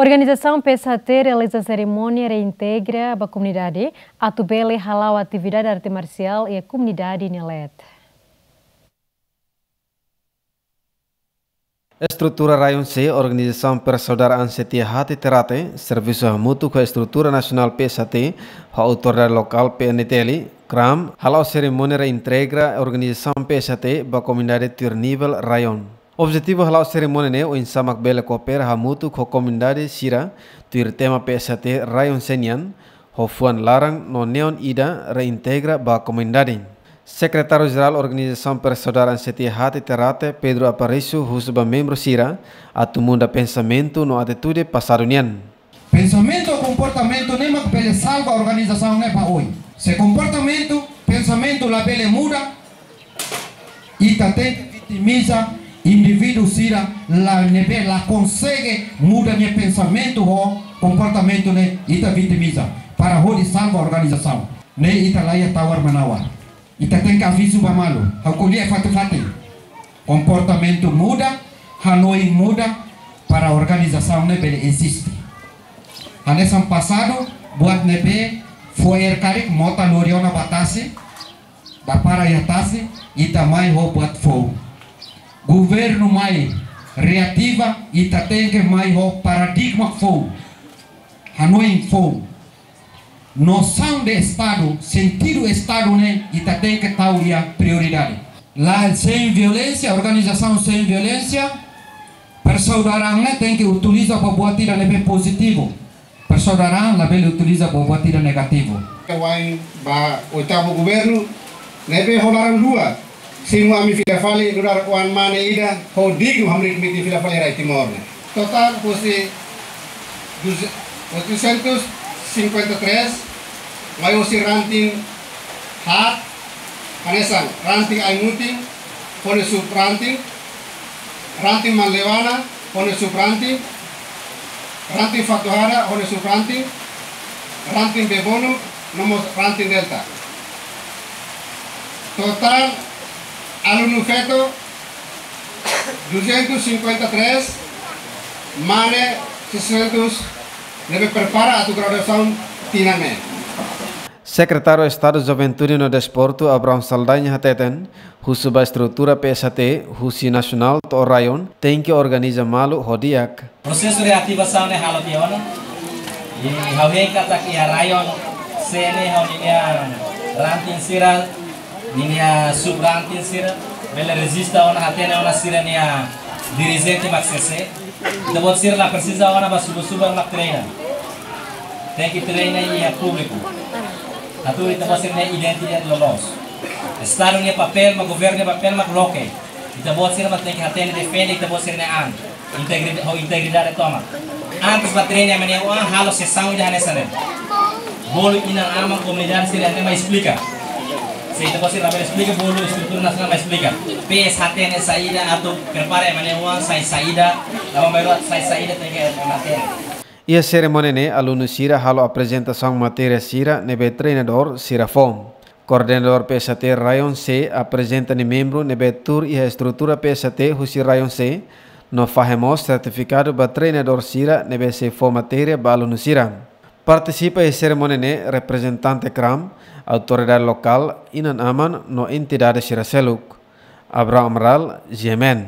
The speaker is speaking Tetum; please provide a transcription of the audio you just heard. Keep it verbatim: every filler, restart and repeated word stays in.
Organizasaun P S H T realiza serimónia reintegra ba komunidade, atu bele hala'o atividade arte marsiál iha komunidade nia leet. Estrutura Raion C, Organizasaun Persaudaraan Setia Hati Terate, servisu hamutuk ho estrutura nasionál P S H T, ho autoridade lokál P N T L, kram, hala'o serimónia reintegra organizasaun P S H T ba komunidade tuir nivel raion. Objetivu hala'o serimónia ne'e oinsá mak bele koopera hamutuk ho komunidade sira tuir tema P S H T Raion C nian, ho fuan laran no neon ida reintegra ba komunidade. Sekretáriu Jerál Organizasaun Persaudaraan Setia Hati Terate, Pedro Aparício, husu ba membru sira atu muda pensamentu no atitude pasadu nian. Pensamentu, komportamentu ne'e mak bele salva organizasaun ne'e ba oin. Se komportamentu, pensamentu labele muda, ita tenke vitimiza indivíduu sira la ne'ebé la konsege muda nia pensamentu ho komportamentu ne'e, ita vitimiza para hodi salva organizasaun. Ne'e ita la iha tawar-menawar. Ita tenke avizu ba malu. Ha'u ko'alia fatin-fatin. Komportamentu muda, hanoin muda para organizasaun ne'e bele eziste. Hanesan pasadu, buat ne'ebé fo'er karik mota lori ona ba tasi, dapara iha tasi, ita mai ho buat foun. Governu mai reativa, ita tenke mai ho paradigma foun. Hanoin foun. Nosaun de Estadu, sentidu Estadu ne'e, ita tenke tau iha prioridade. La, sein violénsia, organizasaun sein violénsia, persaudaraan ne'e tenke utiliza ba buat ida ne'ebé pozitivu. Persaudaraan labele utiliza ba buat ida negativu. Wa'in ba oitavu governu, ne'ebé ho laran lua, simu ami fila fali nu'udar oan mane ida, ho dignu hamriik mitin fila fali rai Timor ne'e. Totál husi duze-, oitocentos e cinquenta e três, mai husi ranting haat, hanesan ranting Aimutin, ho nia sub-ranting, ranting Manleuana, ho nia sub-ranting, ranting Fatuhada, ho nia sub-ranting, ranting Bebonuk, no mós ranting Delta. Totál alunu feto duzentos e cinquenta e três, mane seiscentos, ne'ebé prepara atu graduasaun tinan ne'e. Sekretáriu Estadu Juventude no Desportu, Abrão Saldanha, hateten, husu ba estrutura P S H T, husi nasionál to'o raion, tenke organiza malu ho di'ak. Prosesu reativasaun ne'e halo tiha ona. I ha'u hein katak iha raion C ne'e ho ninia ranting sira, ninia sub-ranting sira, bele rejista ona, hatene ona sira-nia dirijente mak sé-sé. Ita-boot sira la presiza ona ba subar-subar mak treina. Tenke treina iha públiku. Atu ita-boot sira-nia identidade loloos. Estadu nia papél mak, governu nia papél mak loke. Ita-boot sira mak tenke hatene, defende ita-boot sira-nia an. Integri-, ho integridade tomak. Antes ba treina ema nia oan, halo sesaun ida hanesan ne'e. Bolu inan-aman komunidade sira ne'e mai esplika. Se ita-boot sira labele esplika, bolu estrutura nasionál mai esplika. P S H T ne'e saida, atu prepara ema nia oan sai saida, lama mai rua sai saida, tenke hatene. Iha serimónia ne'e, alunu sira halo aprezentasaun matéria sira ne'ebé treinadór sira fó. Koordenadór P S H T Raion C aprezenta nia membru ne'ebé tuur iha estrutura P S H T husi Raion C, no fahe mós sertifikadu ba treinadór sira ne'ebé sei fó matéria ba alunu sira. Partisipa iha serimónia ne'e reprezentante kram, autoridade lokál, inan-aman no entidade sira seluk. Abraham Amaral, G M N.